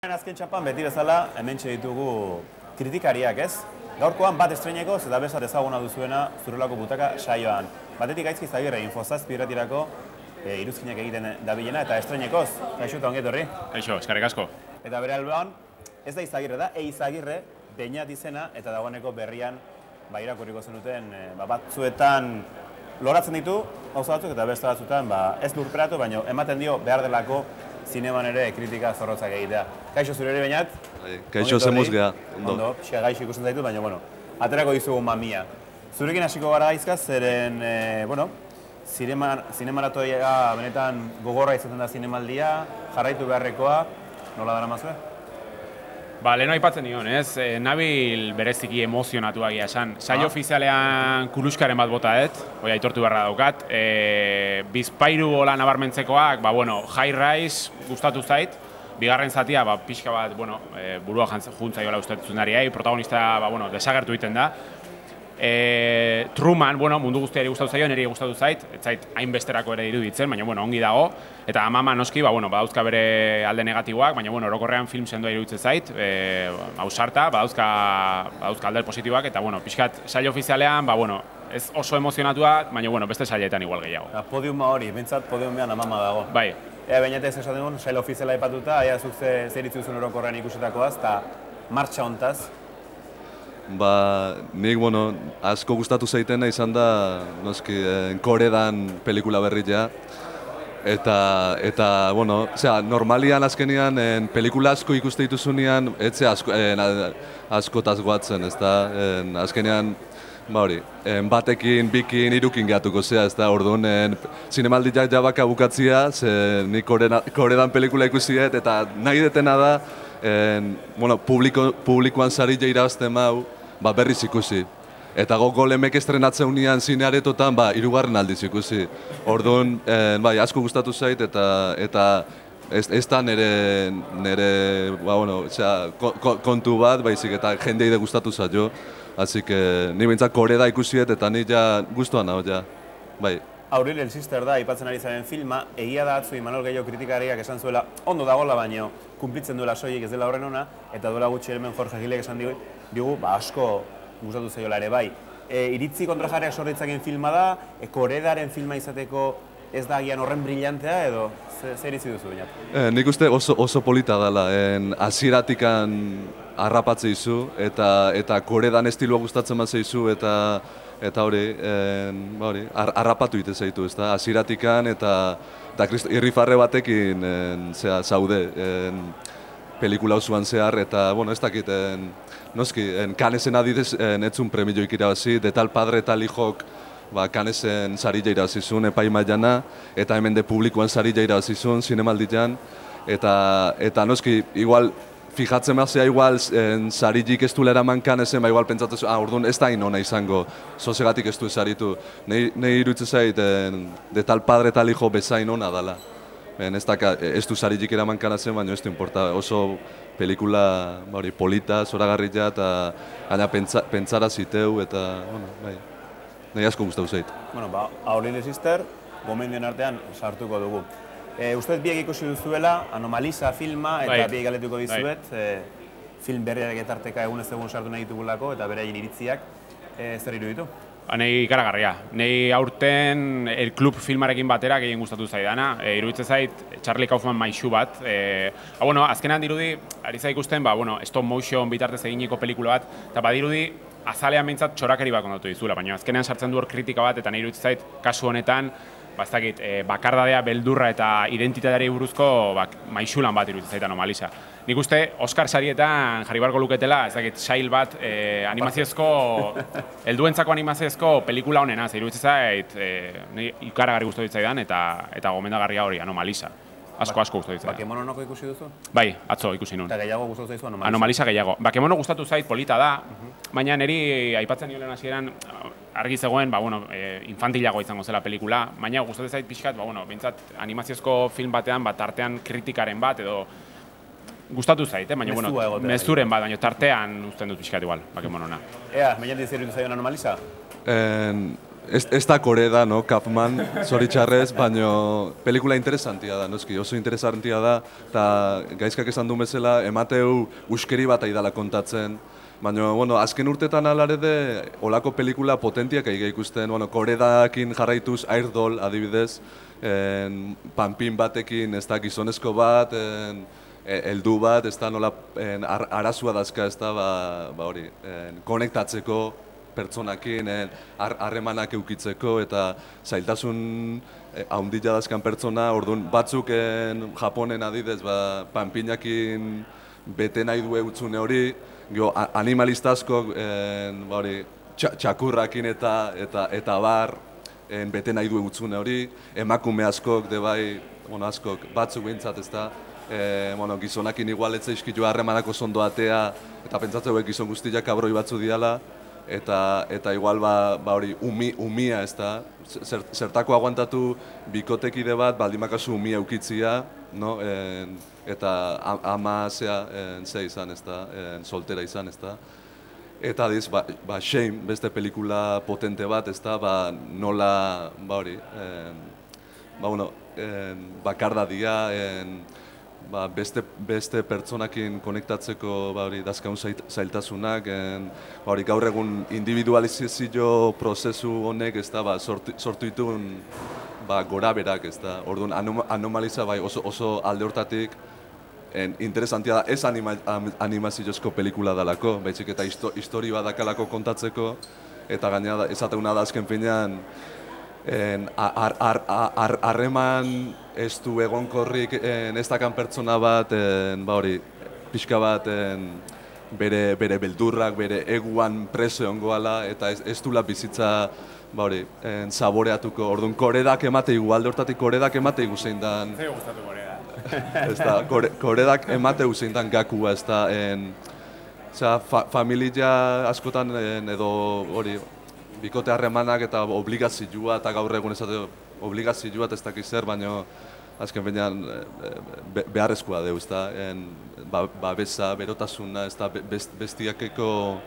Azken txapan beti bezala hemen ditugu kritikariak, ez? Gaurkoan bat estreinekoz eta besat ezaguna duzuena Zurrelako Butaka saioan. Batetik Gaizki Izagirre, Infozazpi irratirako iruzkinak egiten dabilena eta estreinekoz. Kaixo eta ongi etorri. Kaixo, eskerrik asko. Eta bere alboan, ez da Izagirre da, Izagirre, Beñat izena eta dagoeneko berrian irakurriko zenuten batzuetan loratzen ditu gauza batzuk eta beste batzuetan ez lurperatu, baina ematen dio behar delako zineman ere kritika zorrotzak egitea. Kaixo zure ere Beñat? Kaixo zemuz geha. Ondo, pixka gaixo ikusten zaitu, baina, aterako dizugu mamia. Zurekin hasiko gara Gaizka, zeren, zinemaratoia benetan gogorra izaten da zinemaldia, jarraitu beharrekoa, nola dara mazue? Leheno aipatzen nion, ez? Nabil bereziki emozionatuak esan. Saio ofizialean kuluskaren bat botaet, hoi aitortu beharra daukat. Bizpairu hola nabarmentzekoak, high rise gustatu zait. Bigarren zatia, pixka bat, burua juntzaiola uste zundariai, protagonista, desagertu egiten da. Truman, mundu guztiari gustatu zaio, niri gustatu zait, ez zait hainbesterako ere iruditzen, baina ongi dago. Eta Amama noski, badauzka bere alde negatiboak, baina orokorrean film sendoa iruditzen zait, ausarta, badauzka alde positiboak, eta pixkat saio ofizialean, ez oso emozionatua, baina beste sailetan igual gehiago. Podiuma hori, bintzat podiumean Amama dago. Bai. Ea Beñatez esaten dugun, sail ofiziala aipatuta, ea zuk zer itzuzun orokorrean ikusitakoaz, eta martxa hontaz. Nik, asko gustatu zaitena izan da, noski, Koredan pelikula berria. Eta, normalian azkenian, pelikula asko ikuste dituzunean, etxe askotaz guatzen, ez da, azkenian, batekin, bikin, irukin gehatuko zea, ez da, orduan, zinemaldiak jabaka bukatzia, ze nik Koredan pelikula ikusiet, eta nahi detena da, publikoan sarila irabazten mau, berriz ikusi. Eta golemek estrenatzen unian zinearetotan, hirugarren aldiz ikusi. Orduan, asko gustatu zait, eta ez da nire kontu bat, baizik eta jendeide gustatu zaio. Así que, ni bintzak Koreda ikusiet, eta ni ja guztuan hau, ja. Auril El Sister da, aipatzen ari zaren filma, egia da atzu Imanol Gehiago kritikariak esan zuela, ondo dagoela baino, kumplitzen duela soilik ez dela horren ona, eta duela gutxi hemen Jorge Gilek esan digu, asko gustatu zaiola ere bai. Iritzi kontrajarriak sorritzaken filma da, Koredaren filma izateko ez da agian horren brillantea edo zer izi duzu Beñat? Nik uste oso polita dela, hasieratik harrapatze izu, eta Koredan estilua gustatzen bat zeizu, eta hori, harrapatu ite zaitu, ez da, hasieratik eta irrifarre batekin zaude pelikula osoan zehar, eta, ez dakit, noski, Canesen adidez etzun premioik irabazi, de tal padre tal hijok Canesen sarila irabazizun epaimaiana, eta hemen de publikoan sarila irabazizun zinemaldian, eta noski, igual, fijatzen mazia igual sarilik ez duela eraman Canesen, igual pentsatzen orduan ez da inona izango, zozegatik ez du saritu. Nei iruditzen zait, de tal padre tal hijo bezain ona dela. Ez du sarilik eraman Canesen, baina ez du importa, oso pelikula polita, zoragarria, eta gaina pentsara ziteu, eta, nahi asko gustatu zait. Auril El Sister, gomendioen artean sartuko dugu. Usteet biek ikusi duzuela, Anomalisa filma, eta biek galetuko dizuet, film berriak etarteka egunez egun sartu nahi ditugulako, eta beraien iritziak, zer iruditu? Nei ikaragarria. Nei aurten El Club filmarekin batera gehien gustatu zaidana. Iruditzen zait Charlie Kaufman maixu bat. Azkenan dirudi, ari za ikusten, stop motion bitartez eginiko pelikula bat, eta badirudi azalean behintzat txorakeri bat kontatu dizula, baina azkenean sartzen du hor kritika bat, eta nahi iruditzen zait kasu honetan, bakardadea, beldurra eta identitateari buruzko maixulan bat iruditzen zait Anomalisa. Nik uste, Oscar sarietan jarri barko luketela, sail bat animaziozko, helduentzako animaziozko pelikula honena, iruditzen zait, ikaragarri gustatu ditzaidan eta gomendagarria hori, Anomalisa. Asko gustatu ditzaidan. Bakemono noko ikusi duzu? Bai, atzo ikusi nun. Eta gehiago gustatu zaizu Anomalisa? Anomalisa gehiago. Bakemono gustatu zait, polita da, baina niri aipatzen nioen hasieran argi zegoen, infantilagoa izango zela pelikula, baina gustatzen zait pixkat, bintzat animaziozko film batean, tartean kritikaren bat, edo gustatu zait, baina, mezuren bat, baina tartean uzten dut pixkat igual, Bakemonona. Ea, Beñat zer iruditu zaion Anomalisa? ez da Koreda, no, Kaufman, zoritxarrez, baina pelikula interesantia da, noski, oso interesantia da, eta gaizkak esan du bezala, emateu uskeri bat aidala kontatzen, baina, bueno, azken urtetan alare de, olako pelikula potentiak aiga ikusten, bueno, Koredakin jarraituz Airdoll, adibidez, panpin batekin, ez da gizonezko bat, heldu bat, ez da nola arazua dazka, ez da, hori, konektatzeko pertsonakin, harremanak eukitzeko, eta zailtasun haundila dazkan pertsona, orduan batzuk Japonen adidez, panpinakin bete nahi du eutzune hori, animalistazkok, txakurrakin eta bar, bete nahi du eutzune hori, emakume askok, debai, askok, batzuk behintzat ez da, gizonakin igualetze izkitu harremanako zondo atea, eta pentsatzeu gizon guztiak kabroi batzu diala, eta igual hori umia ez da, zertako aguantatu bikotekide bat, baldimakazu umia eukitzia, no? Eta ama ze izan ez da, soltera izan ez da. Eta diz, Shame, beste pelikula potente bat ez da, nola, hori, bakardadia, beste pertsonakin konektatzeko dazkaun zailtasunak, gaur egun individualizazio prozesu honek sortu dituen goraberak, orduan anomaliza oso alde hortatik interesantia da, ez animaziozko pelikula dalako, baizik eta histori bat dakalako kontatzeko, eta gainera ezateuna da azken finean harreman ez du egonkorrik ez dakan pertsona bat, pixka bat bere beldurrak, bere eguan preso ongoala, eta ez dula bizitza saboreatuko. Orduan, Koredak emate alde hortatik Koredak emate zein dan... Zer gustatu Koreda? Ez da, Koredak emate zein dan gakua, ez da, familia askotan edo hori, bikote harremanak eta obligazioa, eta gaur egun ezate obligazioa ez dakiz zer, baina azken benean beharrezkoa deu, ez da, babesa, berotasuna, ez da, bestiakeko,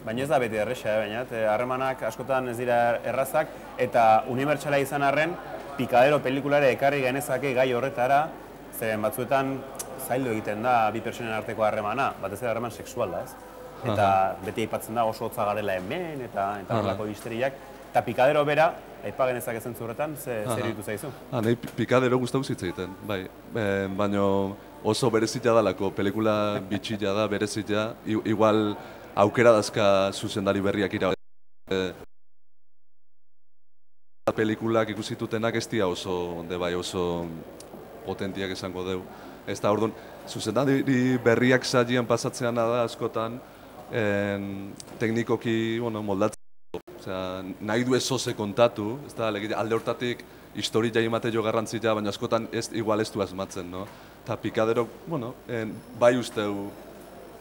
Baina ez da beti erresa, baina harremanak askotan ez dira errazak, eta unibertsala izan arren, Pikadero pelikulare ekarri genezake gai horretara, zeren batzuetan zaildu egiten da bi pertsonen arteko harremana, batez ere harreman sexual da, ez? Eta beti aipatzen da oso hotza garela hemen, eta horrelako histeriak. Eta Pikadero bera, aipa genezak ezen zurretan, zer ditu zaizu? Nahi Pikadero gustatu zitzaiten, bai. Baina oso berezita dalako, pelikula bitxila da, berezita, igual aukera dazka zuzendari berriak ira. Pelikulak ikusitutenak ez dira oso potentiak esango deu. Ez da, orduan, zuzendari berriak zailan pasatzean da askotan, teknikoki moldatzen. Nahi du ezoze kontatu, alde hortatik historia imate jo garrantzia, baina askotan igual ez du asmatzen. Eta Pikadero, bai usteu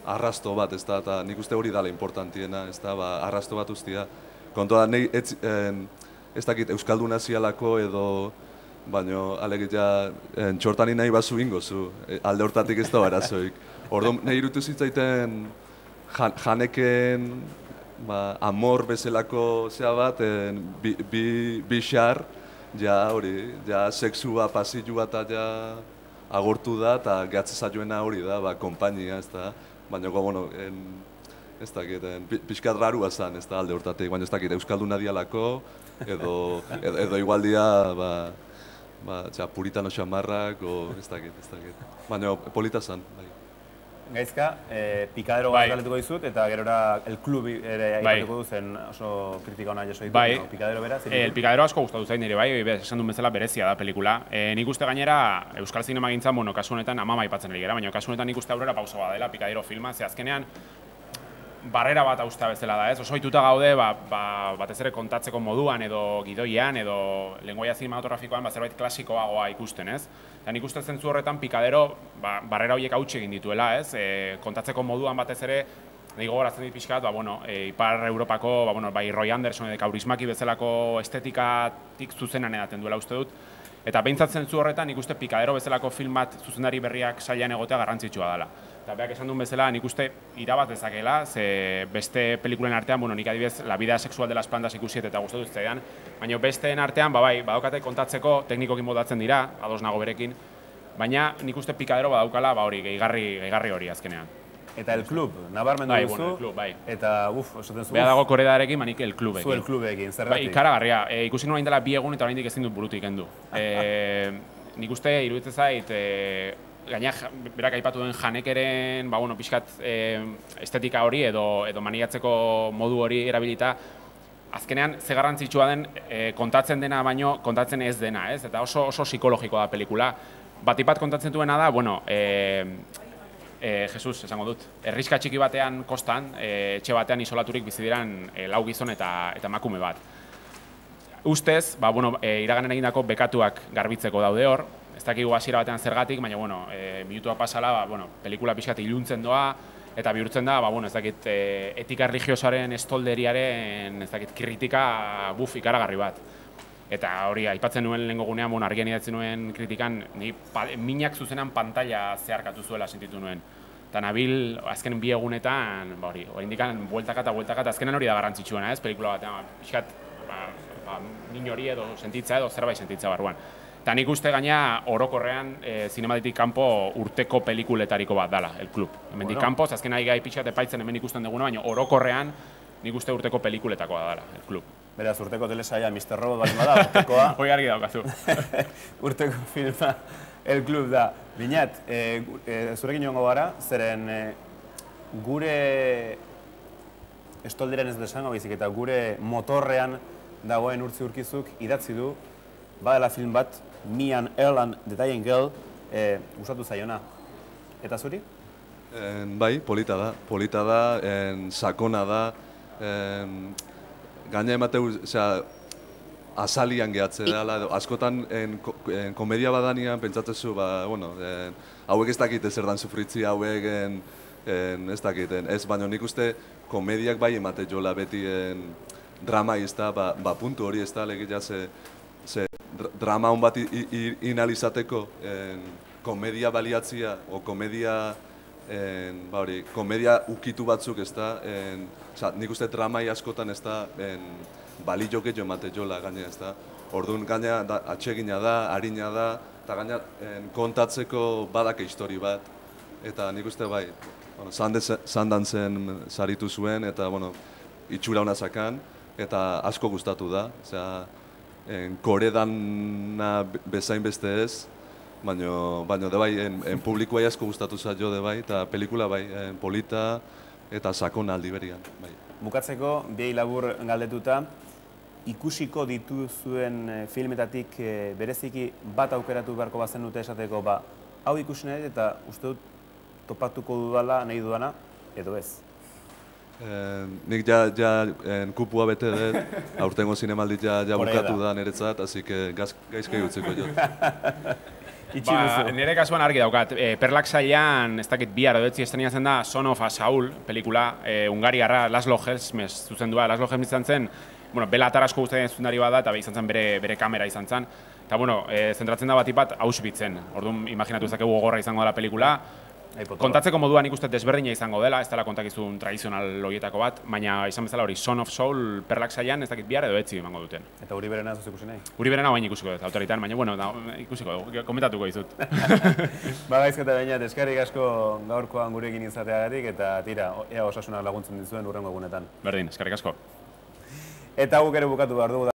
arrasto bat, eta nik uste hori dala importantiena, arrasto bat ustia. Kontua da, ez dakit Euskalduna zialako edo, baina alegia txortani nahi bazu ingozu, alde hortatik ez da arazoik. Orduan, nahi irutu zitzaiten janeken amor bezalako zea bat, bi xar, ja sexua, pasilua eta ja agortu da, eta gehatze zaioena hori da, kompainia, ez da. Baina, ez dakit, pixkat rarua zan, ez da, alde hortatik, baina ez dakit, Euskalduna dialako, edo igualdia, puritano xamarrak, ez dakit. Baina, polita zan, bai. Gaizka, Pikadero bat galetuko dizut, eta gerora el Club ere aipatuko duzen oso kritika hona jaso ditu, Pikadero bera. El Pikadero asko gustatu zain nire, bai, esan duen bezala berezia da pelikula. Nik uste gainera, Euskal Zinema gintzan, kasu honetan amama aipatzen ari gara, baina kasu honetan nik uste aurrera pauso bat dela Pikadero filma, ze azkenean barrera bat austea bezala da, ez? Oso ohituta gaude, batez ere kontatzeko moduan edo gidoian edo lengoaia zinematografikoan zerbait klasikoagoa ikusten, ez? Eta nik uste zentzu horretan Pikadero barrera horiek hautsi egin dituela, ez? Kontatzeko moduan batez ere, nahi gogoratzen dit pixkat, Ipar Europako, bai Roy Anderson edo Kaurismäki bezalako estetikatik zuzenan edaten duela uste dut. Eta behintzat zentzu horretan nik uste Pikadero bezalako film bat zuzendari berriak sailean egotea garrantzitsua dela. Eta beak esan duen bezala, nik uste irabaz dezakela, ze beste pelikulen artean, bueno, nik adibidez, La vida sexual de las plantas ikusiet eta gustatu zitzaidan, baina besteen artean, badaukatek kontatzeko teknikokin modatzen dira, ados nago berekin, baina nik uste Pikadero badaukala, hori, gehigarri hori azkenean. Eta El Club, nabarmendu duzu, bueno, El Club, eta esaten zu, beha dago Koredarekin, manik El Clubekin. zu El Clubekin, zergatik? Ikaragarria, ikusi nuen dela 2 egun eta oraindik ezin dut burutik kendu. Nik uste, iruditzen zait, gaina berak aipatu duen Hanekeren, pixkat estetika hori edo maniatzeko modu hori erabilita, azkenean ze garrantzitsua den kontatzen dena baino kontatzen ez dena, ez? Eta oso psikologikoa da pelikula. Batipat kontatzen duena da, Jesus, esango dut, herriska txiki batean kostan, etxe batean isolaturik bizi diran 4 gizon eta emakume bat. Ustez, iraganen egindako bekatuak garbitzeko daude hor, ez dakigu hasiera batean zergatik, baina, minutua pasala, pelikula pixkat iluntzen doa, eta bihurtzen da, ez dakit, etika religiosoaren estolderiaren, ez dakit, kritika ikaragarri bat. Eta hori, aipatzen nuen lehengo gunean, argian idatzen nuen kritikan, minak zuzenan pantalla zeharkatu zuela sentitu nuen. Eta nabil, azken 2 egunetan, indikan, bueltaka eta azkenan hori da garrantzitsuena, ez, pelikula batean, pixkat, nin hori edo sentitza edo zerbait sentitza barruan. Eta nik uste gaina orokorrean zinematitik kanpo urteko pelikuletariko bat dala, El Club. Hemendik kanpo, azken nahi gai pixat epaitzen hemen ikusten duguna, baina orokorrean nik uste urteko pelikuletako dala, El Club. Beraz, urteko telesaia Mr. Robot bali bada, urtekoa. Hoi argi daukazu. Urteko filma El Club da. Binat, zurekin joango gara, zeren gure estolderen ez desango baizik eta gure motorrean dagoen Urtzi Urkizuk idatzi du, badela film bat, Me and Earl and the Dying Girl, gustatu zaiona. Eta zuri? Bai, polita da, sakona da, gaina emateu, azalian gehatze dela, askotan komedia badanian pentsatzezu, hauek ez dakite zer dan sufritzi, hauek ez dakiten, ez, baina nik uste komediak bai emate jola beti drama izta, puntu hori ez da, legitea ze drama hon bat inalizateko komedia baliatzia, o komedia ukitu batzuk ez da, nik uste dramai askotan ez da balio gehiago emate jola gaina ez da. Orduan gaina atsegina da, harina da, eta gaina kontatzeko badake histori bat. Eta nik uste bai, Sundancen saritu zuen eta itxura hona zakan, eta asko gustatu da. Koredana bezain beste ez, baina de bai, publikoa asko gustatu zaio de bai, eta pelikula bai, polita eta sakona aldi berian. Bukatzeko, biei labur galdetuta, ikusiko dituzuen filmetatik bereziki bat aukeratu beharko bazen dute esateko, hau ikusi nahi eta uste dut topatuko dudala, nahi dudana, edo ez? Nik kupua bete dut, aurtengo zinemaldit bukatu da niretzat, hasi que gaizkai utziko jot. Nire kasuan argi daukat, Perlak sailean, ez dakit bihar edo etzi estrenatzen da Son of a Saul pelikula, Hungariarra Laszlo Helmes zuzendua. Laszlo Helmes izan zen, Bela Tarasko guztien zuzendari bat da, eta izan zen bere kamera izan zen. Eta, zentratzen da bat Auschwitzen. Orduan, imaginatu ezakegu gogorra izango dela pelikula. Kontatzeko moduan ikusten desberdina izango dela, ez dela kontakizun tradizional horietako bat, baina izan bezala hori Son of Saul Perlak sailean ez dakit bihar edo etzi emango duten. Eta Uri Berena ez ikusi nahi? Uri Berena baina ikusiko dut, autoritan, baina ikusiko, komentatuko dizut. Gaizketa baina, eskerrik asko gaurkoan gurekin izateagatik, eta tira, ea osasunak laguntzen dizuen hurrengo egunetan. Berdin, eskerrik asko. Eta guk ere bukatu behar dugu.